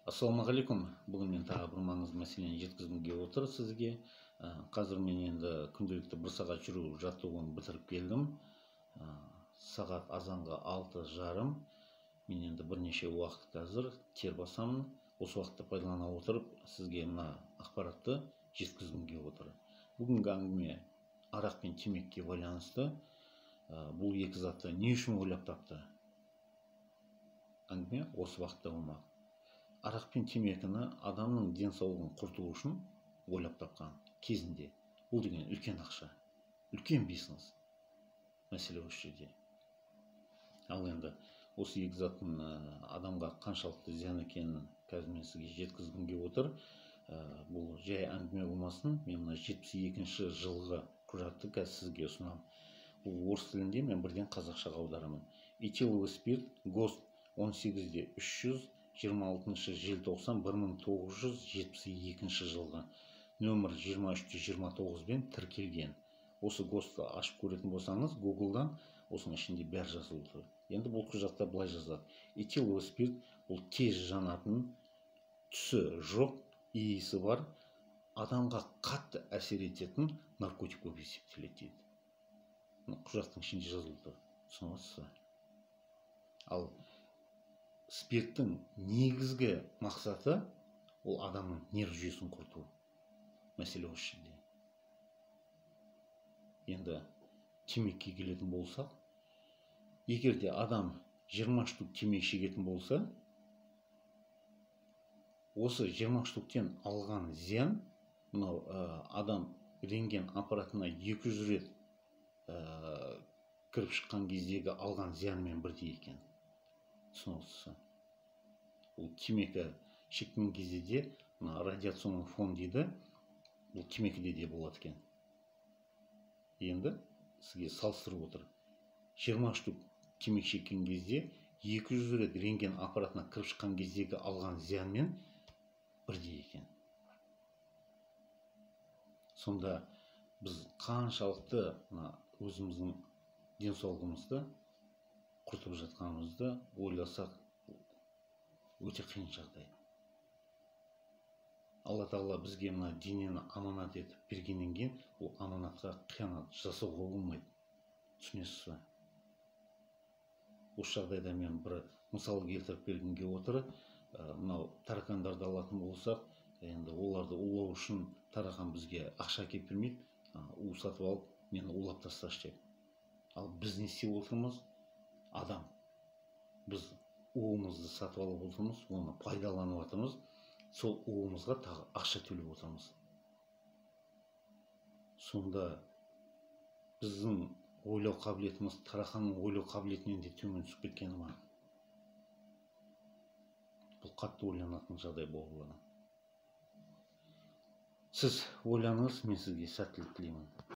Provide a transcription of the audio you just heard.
Ассалаумағалейкум. Бүгін мен тағы бір маңызды мәселені жеткізгім келіп отыр сізге. Қазір мен енді күнделікті 1 сағат жүру жаттығуын бітіріп келдім. Сағат азанға 6:30. Мен енді бірнеше уақыт қазір тер басамын. Осы уақытты пайдалана отырып сізге мына ақпаратты жеткізгім келіп отыр. Бүгінгі әңгіме арақ пен темекіге байланысты. Бұл екі затты не үшін ойлап тапты? Әңгіме осы уақытта болмақ. Арақ пен темекіні адамның денсаулығын құрту үшін ойлап тапқан кезінде. Бұл деген үлкен ақша, үлкен бизнес. Мәселе осы жерде. Ал енді осы екі заттың адамға қаншалықты зиян екенін қазір мен сізге жеткізгім келіп отыр. Бұл жай әңгіме болмасын. Мен мына 72-ші жылғы құжатты қазір сізге ұсынамын. Бұл орыс тілінде, мен бірден қазақшаға аударамын. Этиловый спирт ГОСТ 18-300 26 желтоқсан 1972 жылғы нөмір 23-29 тіркелген. Осы ГОСТты ашып көретін болсаңыз, Google'дан осының ішінде бәрі жазылып тұр. Енді бұл құжатта былай жазылады. Этиловый спирт бұл тез жанатын, түсі жоқ, иісі бар, адамға қатты әсер ететін наркотик болып есептеледі дейді. Құжаттың ішінде жазылып тұр. Түсінесіз бе? Ал спирттің негізгі мақсаты ол адамның нерв жүйесін құрту. Мәселе осы жерде. Енді темекіге келетін болсақ, егер де адам 20 штук темекі шегетін болса, осы 20 штуктен алған зиян, мынау адам рентген аппаратына 200 рет кіріп шыққан кездегі алған зиянмен бірдей екен. Түсінесіз. Бұл темекі шеккен кезде де радиационный фон дейді, бұл темекіде де болады екен. Енді сізге салыстырып отыр. 20 штук темекі шеккен кезде 200 рет рентген аппаратына кіріп шыққан кездегі алған зиянмен бірдей екен. Сонда біз қаншалықты өзіміздің денсаулығымызды құртып жатқанымызды ойласақ, өте қиын жағдай. Алла Тағала бізге мына денені аманат етіп бергеннен кейін, ол аманатқа қиянат жасауға болмайды. Түсінесіз бе? Осы жағдайда мен бір мысал келтіріп бергім келіп отыр. Мынау таракандарды алатын болсақ, енді оларды улау үшін тарақан бізге ақша әкеліп бермейді. У сатып алып, мені улап тасташы деп. Ал біз не істеп отырмыз? Адам. Біз уымызды сатып алып отырмыз, оны пайдаланып отырмыз. Сол уымызға тағы ақша төлеп отырмыз. Сонда біздің ойлау қабілетіміз тарақанның ойлау қабілетінен де төмен түсіп кеткені ма? Бұл қатты ойланатын жағдай болды. Сіз ойланыңыз, мен сізге сәттілік тілеймін.